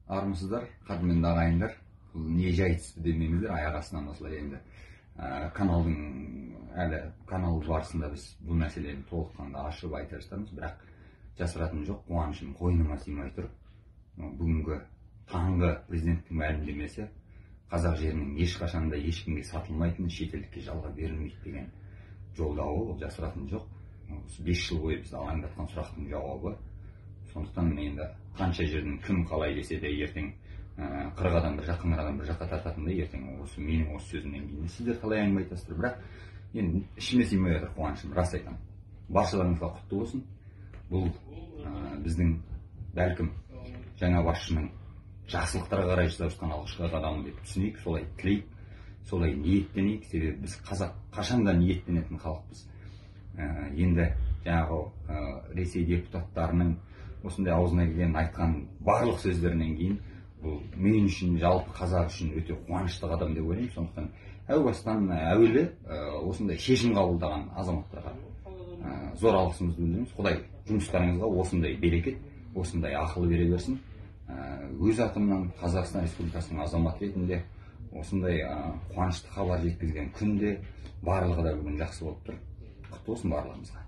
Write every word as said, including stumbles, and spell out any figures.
Армысыздар, кадырмендүү агайындар. Бул не жайтсыз демеңиздер, аяк астынан осулай энди каналдын әле канал барысында биз бул маселени толукканда ашып айта баштадыбыз, бирок жасыратыным жок, кубанычым койнума сыймай туруп, бүгүнкү таңкы президенттин маалимдемеси казак жеринин эч качан да эч кимге сатылмайтын, чет элдикке жалга берилмейт деген жолдоо, бул жасыратыным жок. беш жыл бою бизди алаңдаткан сурактын жообу. Сондуктан мен енді канча жерден ким калай десе де ертең кырк адам бир жакка, адам бир жакка тартатындай, ертең осы менин осы сөзүмдөн кийин сиздер калай әңгиме айтасыздар. Бирок эми ичиме сыймай атат кубанычым, рас айтам. Баршаларыңызга куттуу болсун. Бул биздин балким жаңа башчынын жакшылыктарга карай жасап жаткан алгычкы кадамы деп түшүнөйүк, солай тилейик, солай ниеттенейик. Себеби биз казак качанда ниеттенетін халыкпыз. Енді жаңағы Ресей депутаттарының осындай аузына келген айткан барлық сөздеринен кийин бул мен үчүн, жалпы казак үчүн өтө кубанычтуу кадам деп ойлойм. Сондуктан әу бастан әуелі осындай шешим кабылдаган азаматтарга зор алгысымызды билдиребиз. Кудай жумуштарыңызга осындай берекет, осындай акыл бере берсин. Өз атымдан Казакстан Республикасынын азаматы ретинде осындай кубанычтуу кабар жеткизген күндө барлыгы да бүгүн жакшы болуптур. Куттуу болсун барлыгыбызга.